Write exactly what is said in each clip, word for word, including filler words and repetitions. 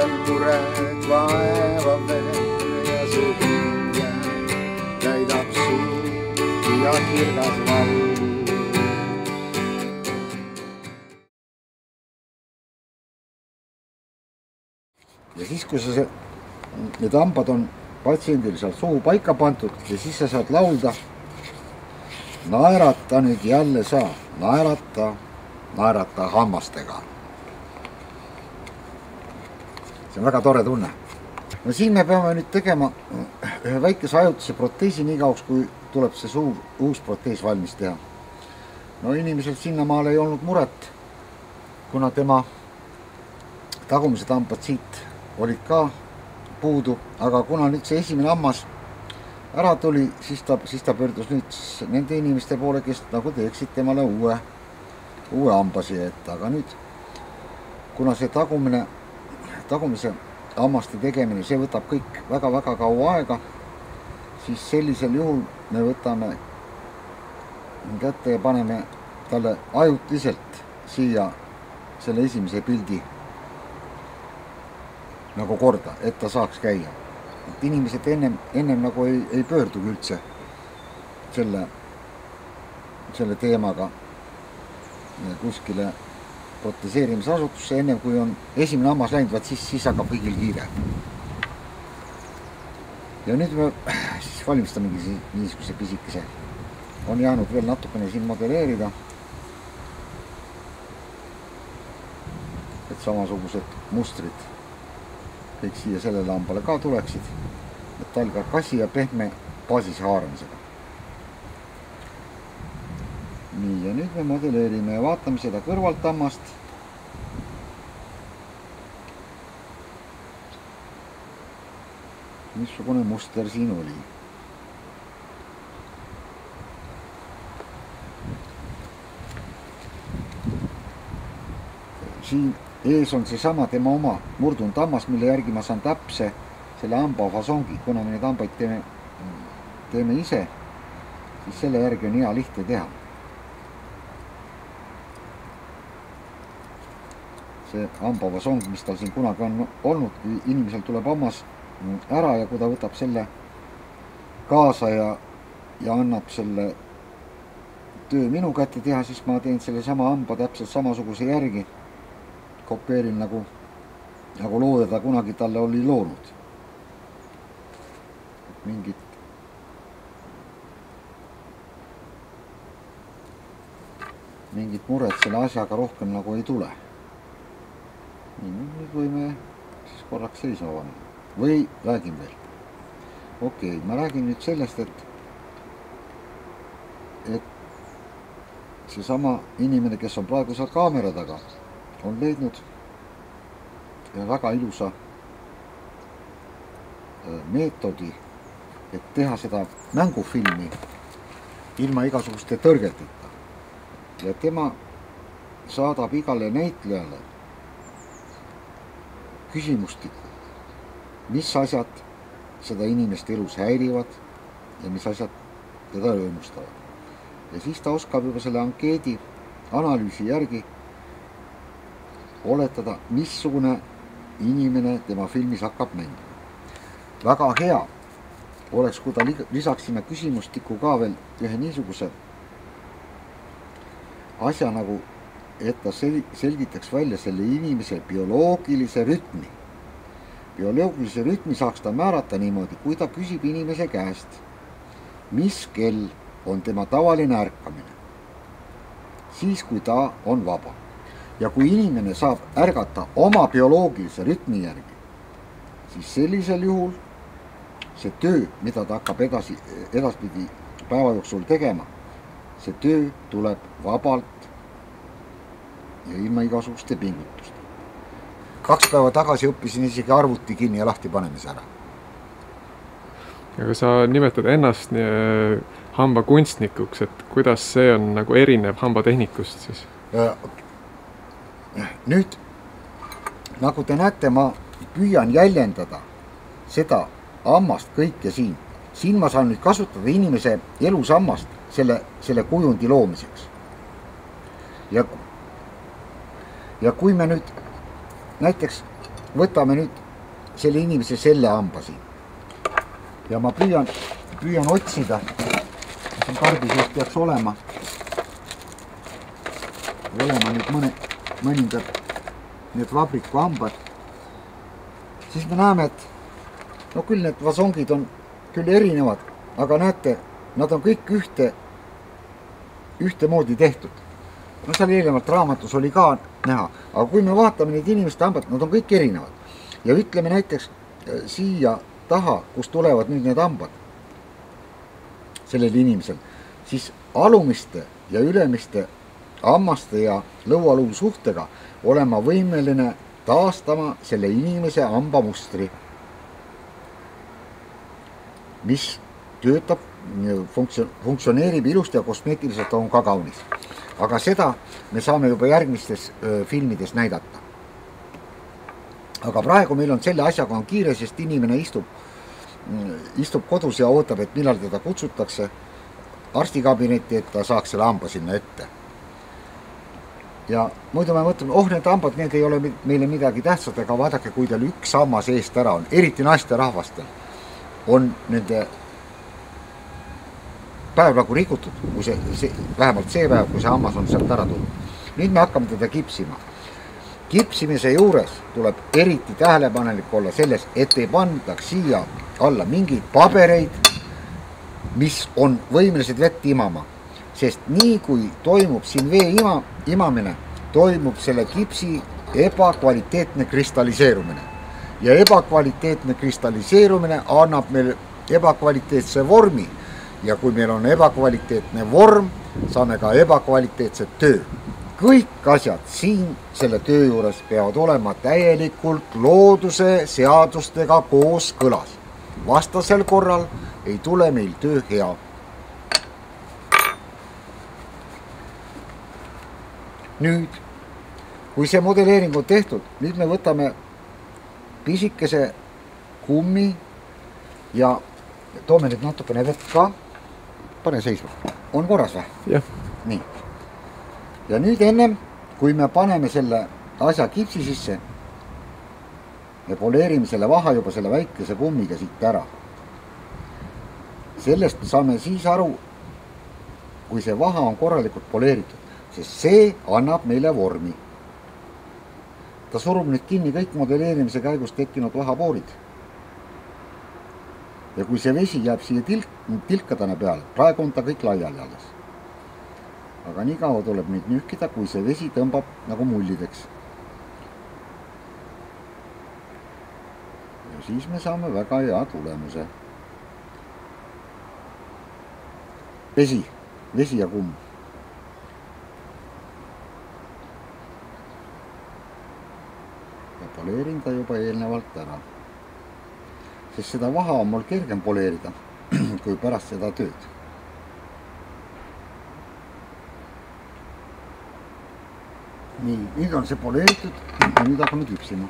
endal mured vaevab veel ja see hinge täidab suud ja kirgas vallu. Ja siis, kui sa see, need hambad on patsiendil seal suu paika pandud ja siis sa saad laulda. Naerata nüüd jälle saa, naerata, naerata hammastega. See on väga tore tunne. No siin me peame nüüd tegema ühe väikese ajutise proteesi nii kauks, kui tuleb see suur uus protees valmis teha. No inimesel sinnamaal ei olnud muret, kuna tema tagumised hambad siit olid ka puudu, aga kuna nüüd see esimene hammas ära tuli, siis ta, siis ta pöördus nüüd nende inimeste poole, kes nagu teeksid temale uue, uue hambasi, et aga nüüd, kuna see tagumine, tagumise hammaste tegemine, see võtab kõik väga-väga kaua aega, siis sellisel juhul me võtame kätte ja paneme talle ajutiselt siia selle esimese pildi nagu korda, et ta saaks käia. Et inimesed ennem, ennem nagu ei, ei pöördugi üldse selle, selle teemaga kuskile proteseerimisasutusse, ennem kui on esimene hammas läinud, vaat siis, siis hakkab kõigil kiire. Ja nüüd me siis valmistamegi niisuguse pisikese. On jäänud veel natukene siin modelleerida, et samasugused mustrid kõik siia sellele hambale ka tuleksid, et talga kasi ja pehme baasise haaramisega. Nii, ja nüüd me modelleerime ja vaatame seda kõrvalt hammast. Missugune muster siin oli. Siin ees on see sama tema oma murdunud hammas, mille järgi ma saan täpse selle hamba fasongi. Kuna me neid hambaid teeme, teeme ise, siis selle järgi on hea lihtne teha. See hamba fasong, mis tal siin kunagi on olnud, kui inimesel tuleb hammas ära ja kui ta võtab selle kaasa ja, ja annab selle töö minu kätte teha, siis ma teen selle sama hamba täpselt samasuguse järgi. Kopeerin nagu, nagu looja ta kunagi talle oli loonud. Mingit, mingit muret selle asjaga rohkem nagu ei tule. Nii, nüüd võime siis korraks seisma panna. Või räägin veel. Okei, ma räägin nüüd sellest, et, et see sama inimene, kes on praegu seal kaamera taga, on leidnud väga ilusa meetodi, et teha seda mängufilmi ilma igasuguste tõrgeteta. Ja tema saadab igale näitlejale küsimustiku, mis asjad seda inimest elus häirivad ja mis asjad teda rõõmustavad. Ja siis ta oskab juba selle ankeedi analüüsi järgi oletada, missugune inimene tema filmis hakkab mängima. Väga hea oleks, kui ta lisaksime küsimustiku ka veel ühe niisuguse asja nagu, et ta selgitaks välja selle inimese bioloogilise rütmi. Bioloogilise rütmi saaks ta määrata niimoodi, kui ta küsib inimese käest, mis kell on tema tavaline ärkamine, siis kui ta on vaba. Ja kui inimene saab ärgata oma bioloogilise rütmi järgi, siis sellisel juhul see töö, mida ta hakkab edasi, edaspidi päeva jooksul tegema, see töö tuleb vabalt ja ilma igasuguste pingutuste. Kaks päeva tagasi õppisin isegi arvuti kinni ja lahti panemise ära. Aga sa nimetad ennast hamba kunstnikuks, et kuidas see on nagu erinev hambatehnikust siis? Nüüd, nagu te näete, ma püüan jäljendada seda hammast kõike siin. Siin ma saan nüüd kasutada inimese elus hammast selle, selle kujundi loomiseks. Ja, ja kui me nüüd näiteks võtame nüüd selle inimese selle hamba siin. Ja ma püüan, püüan otsida, siin karbi sees peaks olema, olema nüüd mõne, mõningad need vabriku hambad. Siis me näeme, et no küll need vasongid on küll erinevad, aga näete, nad on kõik ühte, ühte moodi tehtud. No seal eelnevalt raamatus oli ka näha, aga kui me vaatame neid inimeste hambad, nad on kõik erinevad. Ja ütleme näiteks siia taha, kus tulevad nüüd need hambad sellel inimesel, siis alumiste ja ülemiste hammaste ja lõualuu suhtega olema võimeline taastama selle inimese hambamustri, mis töötab, funktsioneerib ilusti ja kosmeetiliselt on ka kaunis. Aga seda me saame juba järgmistes filmides näidata. Aga praegu meil on selle asjaga on kiire, sest inimene istub, istub kodus ja ootab, et millal teda kutsutakse arstikabinetti, et ta saaks selle hamba sinna ette. Ja muidu me mõtleme, oh need hambad, need ei ole meile midagi tähtsad, aga vaadake, kui teil üks hammas eest ära on, eriti naiste rahvastel, on nende päev nagu rikutud, kui see, see, vähemalt see päev, kui see hammas on sealt ära tulnud. Nüüd me hakkame teda kipsima. Kipsimise juures tuleb eriti tähelepanelik olla selles, et ei pandaks siia alla mingeid pabereid, mis on võimelised vett imama. Sest nii kui toimub siin vee ima, imamine, toimub selle kipsi ebakvaliteetne kristalliseerumine. Ja ebakvaliteetne kristalliseerumine annab meil ebakvaliteetse vormi. Ja kui meil on ebakvaliteetne vorm, saame ka ebakvaliteetset töö. Kõik asjad siin selle töö juures peavad olema täielikult looduse seadustega koos kõlas. Vastasel korral ei tule meil töö hea. Nüüd, kui see modelleering on tehtud, nüüd me võtame pisikese kummi ja toome nüüd natukene vett ka. Pane seisma. On korras või? Jah. Nii. Ja nüüd ennem, kui me paneme selle asja kipsi sisse, me poleerime selle vaha juba selle väikese kummiga siit ära. Sellest saame siis aru, kui see vaha on korralikult poleeritud, sest see annab meile vormi. Ta surub nüüd kinni kõik modelleerimise käigus tekkinud vahapoorid. Ja kui see vesi jääb siia tilk, tilkadena peale, praegu on ta kõik laiali alles. Aga nii kaua tuleb neid nühkida, kui see vesi tõmbab nagu mullideks. Ja siis me saame väga hea tulemuse. Vesi, vesi ja kumm. Ja poleerin ta juba eelnevalt ära. Sest seda vaha on mul kergem poleerida, kui pärast seda tööd. Nii, nüüd on see poleeritud ja nüüd hakkame kipsima.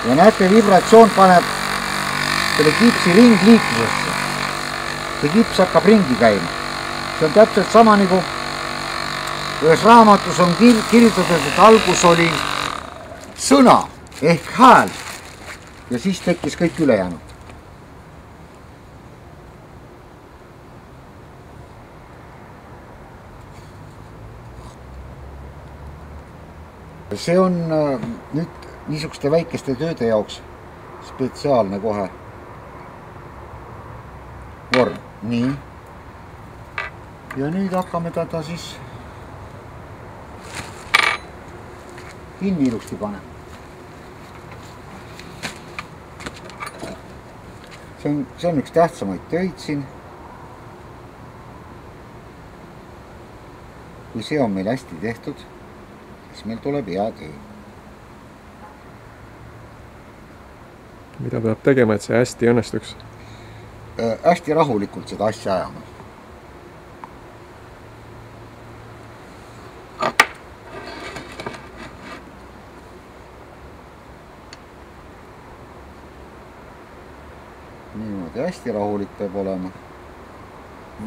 Ja näete, vibratsioon paneb selle kipsi ringliiklusesse. See kips hakkab ringi käima. See on täpselt sama nagu ühes raamatus on kirjutatud, et algus oli sõna ehk hääl ja siis tekkis kõik ülejäänud. See on nüüd niisuguste väikeste tööde jaoks spetsiaalne kohe vorm. Nii. Ja nüüd hakkame teda siis kinni ilusti panema. See on, see on üks tähtsamaid töid siin. Kui see on meil hästi tehtud, siis meil tuleb hea töö. Mida peab tegema, et see hästi õnnestuks? Äh, hästi rahulikult seda asja ajama. Niimoodi hästi rahulik peab olema.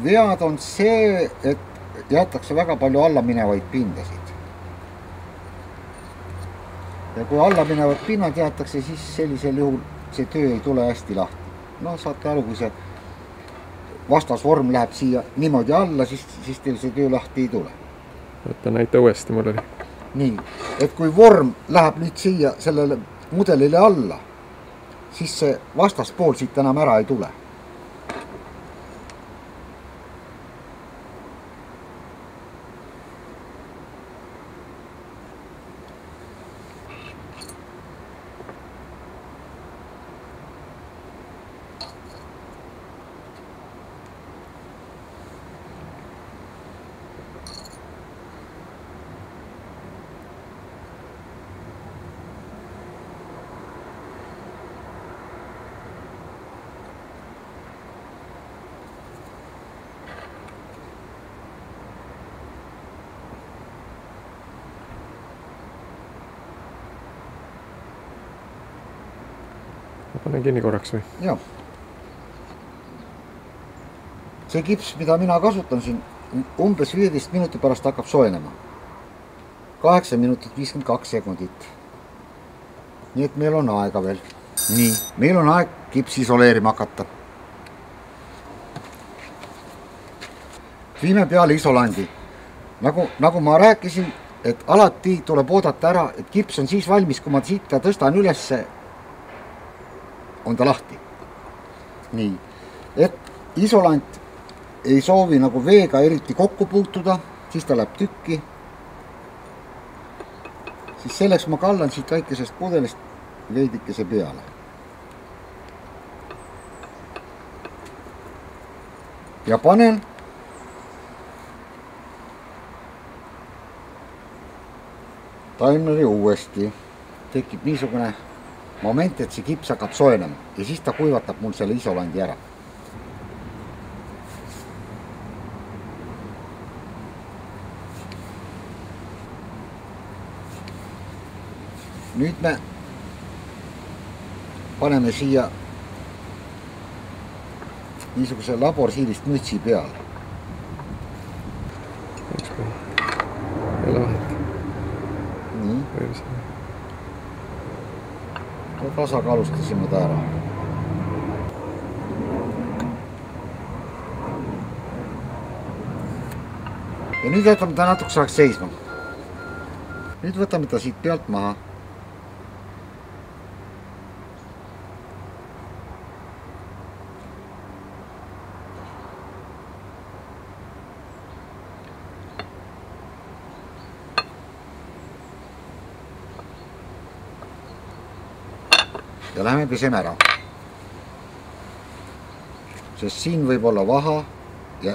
Vead on see, et jäetakse väga palju alla minevaid pindasid. Ja kui alla minevad pinnad jäetakse, siis sellisel juhul see töö ei tule hästi lahti. No saate aru, kui see vastasvorm läheb siia niimoodi alla, siis, siis teil see töö lahti ei tule. Võtta näita uuesti mul oli. Nii, et kui vorm läheb nüüd siia sellele mudelile alla, siis see vastaspool siit enam ära ei tule. Panen kinni korraks või? Jah. See kips, mida mina kasutan siin, umbes viieteist minuti pärast hakkab soojenema. kaheksa minutit viiskümmend kaks sekundit. Nii et meil on aega veel. Nii, meil on aeg kips isoleerima hakata. Viime peale isolandi. Nagu, nagu ma rääkisin, et alati tuleb oodata ära, et kips on siis valmis, kui ma siit ta tõstan ülesse, on ta lahti. Nii, et isolant ei soovi nagu veega eriti kokku puutuda, siis ta läheb tükki. Siis selleks ma kallan siit väikesest pudelist veidikese peale. Ja panen taimleri uuesti. Tekib niisugune moment, et see kips hakkab soojenema ja siis ta kuivatab mul selle isolandi ära. Nüüd me paneme siia niisuguse laborsiilist mütsi peale. Jälle vahet. Nii. Tasakaalustasime ta ära. Ja nüüd jätame ta natuke saaks seisma. Nüüd võtame ta siit pealt maha. Ja läheme peseme ära. Sest siin võib olla vaha ja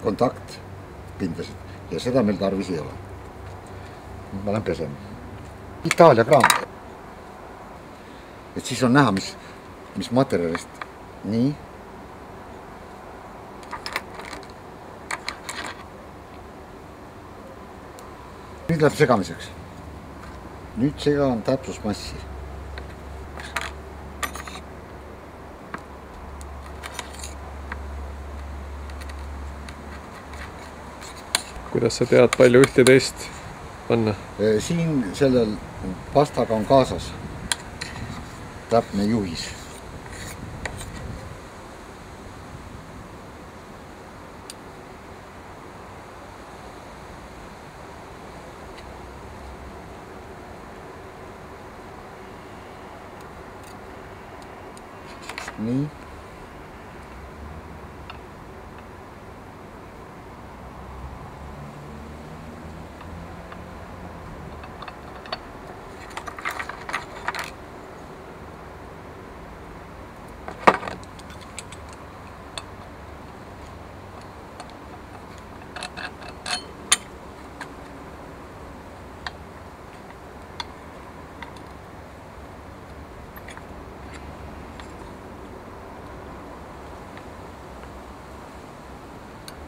kontakt pindasid ja seda meil tarvis ei ole. Ma lähen pesema. Itaalia kraam. Et siis on näha, mis, mis materjalist. Nii. Nüüd läheb segamiseks. Nüüd segan täpsusmassi. Kuidas sa tead palju ühte teist panna? Siin sellel pastaga on kaasas täpne juhis. Nii.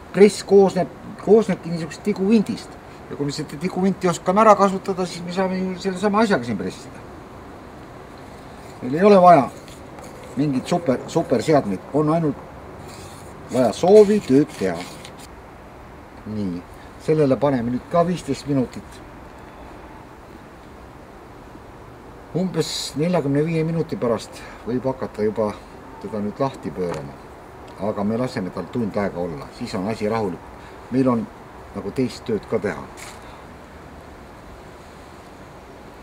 Press koosneb, koosnebki niisugust tiguvintist ja kui me seda tiguvinti oskame ära kasutada, siis me saame selle sama asjaga siin pressida. Meil ei ole vaja mingit super, super seadmeid, on ainult vaja soovi tööd teha. nii, sellele paneme nüüd ka viisteist minutit. Umbes neljakümne viie minuti pärast võib hakata juba teda nüüd lahti pöörama. Aga me laseme tal tund aega olla, siis on asi rahulik. Meil on nagu teist tööd ka teha.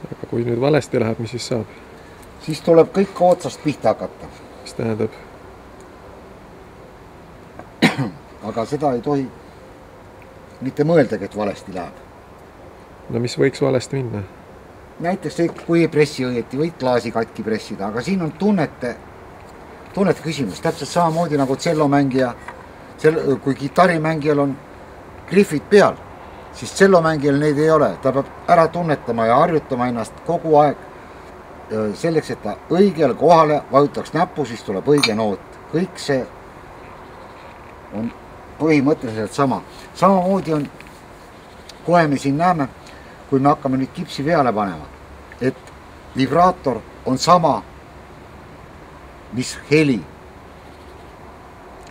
Aga kui nüüd valesti läheb, mis siis saab? Siis tuleb kõik otsast pihta hakata. Mis tähendab? Aga seda ei tohi mitte mõeldagi, et valesti läheb. No mis võiks valesti minna? Näiteks kui ei pressi õieti, võid klaasi katki pressida, aga siin on tunnete, tunnete küsimus. Täpselt samamoodi nagu tsellomängija, kui kitarrimängijal on griffid peal, siis tsellomängijal neid ei ole. Ta peab ära tunnetama ja harjutama ennast kogu aeg selleks, et ta õigel kohale vajutaks näppu, siis tuleb õige noot. Kõik see on põhimõtteliselt sama. Samamoodi on, kohe me siin näeme, kui me hakkame nüüd kipsi peale panema, et vibraator on sama, mis heli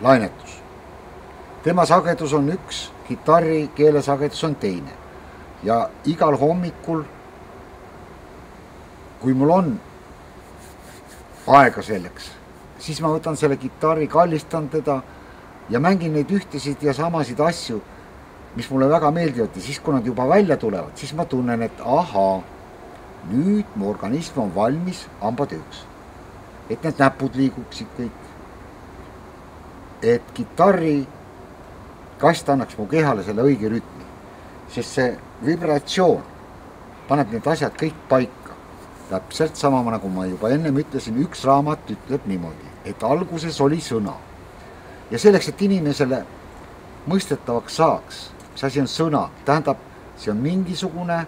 lainetus. Tema sagedus on üks, kitarri keele sagedus on teine. Ja igal hommikul, kui mul on aega selleks, siis ma võtan selle kitarri, kallistan teda ja mängin neid ühtesid ja samasid asju, mis mulle väga meeldivad ja siis, kui nad juba välja tulevad, siis ma tunnen, et ahaa, nüüd mu organism on valmis hambatööks. Et need näpud liiguksid kõik. Et kitarri kast annaks mu kehale selle õige rütmi. Sest see vibratsioon paneb need asjad kõik paika. Täpselt sama, nagu ma juba ennem ütlesin, üks raamat ütleb niimoodi, et alguses oli sõna. Ja selleks, et inimesele mõistetavaks saaks, mis asi on sõna, tähendab, see on mingisugune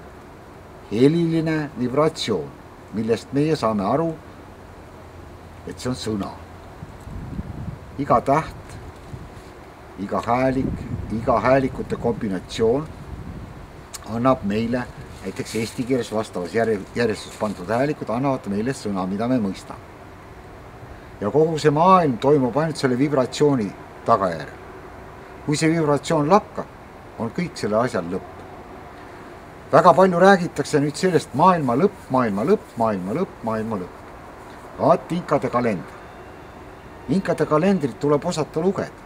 heliline vibratsioon, millest meie saame aru, et see on sõna. Iga täht, iga häälik, iga häälikute kombinatsioon annab meile, näiteks eesti keeles vastavas järjestus pandud häälikud, annavad meile sõna, mida me mõistame. Ja kogu see maailm toimub ainult selle vibratsiooni tagajärjel. Kui see vibratsioon lakkab, on kõik selle asjal lõpp. Väga palju räägitakse nüüd sellest maailma lõpp, maailma lõpp, maailma lõpp, maailma lõpp. Vaat inkade kalender. Inkade kalendrit tuleb osata lugeda.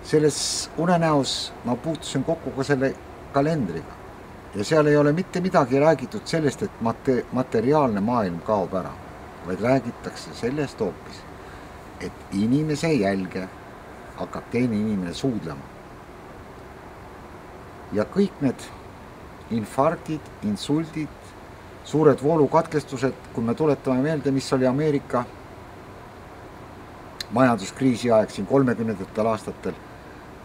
Selles unenäos ma puutusin kokku ka selle kalendriga. Ja seal ei ole mitte midagi räägitud sellest, et mate- materiaalne maailm kaob ära, vaid räägitakse sellest hoopis, et inimese jälge hakkab teine inimene suudlema. Ja kõik need infarktid, insultid, suured voolukatkestused, kui me tuletame meelde, mis oli Ameerika majanduskriisi aeg siin kolmekümnendatel aastatel,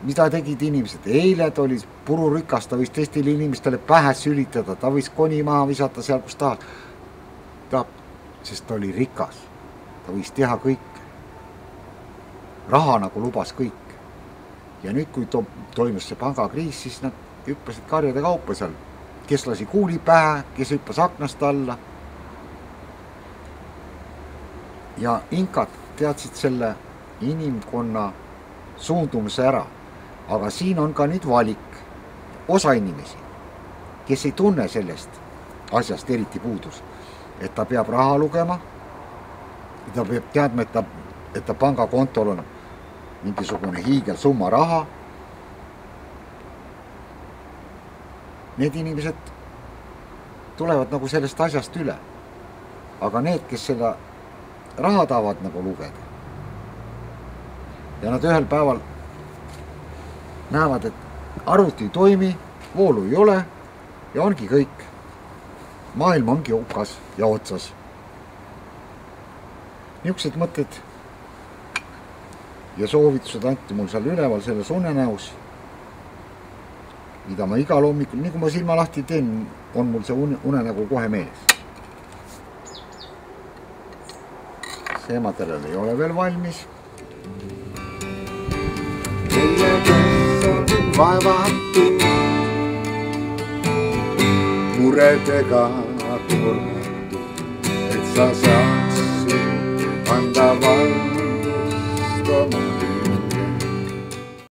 mida tegid inimesed? Eile ta oli pururikas, ta võis teistele inimestele pähe sülitada, ta võis koni maha visata seal, kus tahas. Ta, sest ta oli rikas, ta võis teha kõik. Raha nagu lubas kõik. Ja nüüd, kui to toimus see pangakriis, siis nad hüppasid karjade kaupa seal. Kes lasi kuuli pähe, kes hüppas aknast alla. Ja inkad teadsid selle inimkonna suundumuse ära. Aga siin on ka nüüd valik. Osa inimesi, kes ei tunne sellest asjast eriti puudus, et ta peab raha lugema, ta peab teadma, et ta, et ta pangakontol on mingisugune hiigel summa raha. Need inimesed tulevad nagu sellest asjast üle. Aga need, kes seda raha tahavad nagu lugeda ja nad ühel päeval näevad, et arvuti ei toimi, voolu ei ole ja ongi kõik. Maailm ongi hukas ja otsas. Niisugused mõtted ja soovitused anti mul seal üleval selles unenäos, mida ma igal hommikul, nii kui ma silma lahti teen, on mul see unenägu kohe meeles. See materjal ei ole veel valmis. Teie kes on vaevatud, muredega kurnatud, et sa saaksid anda valgust oma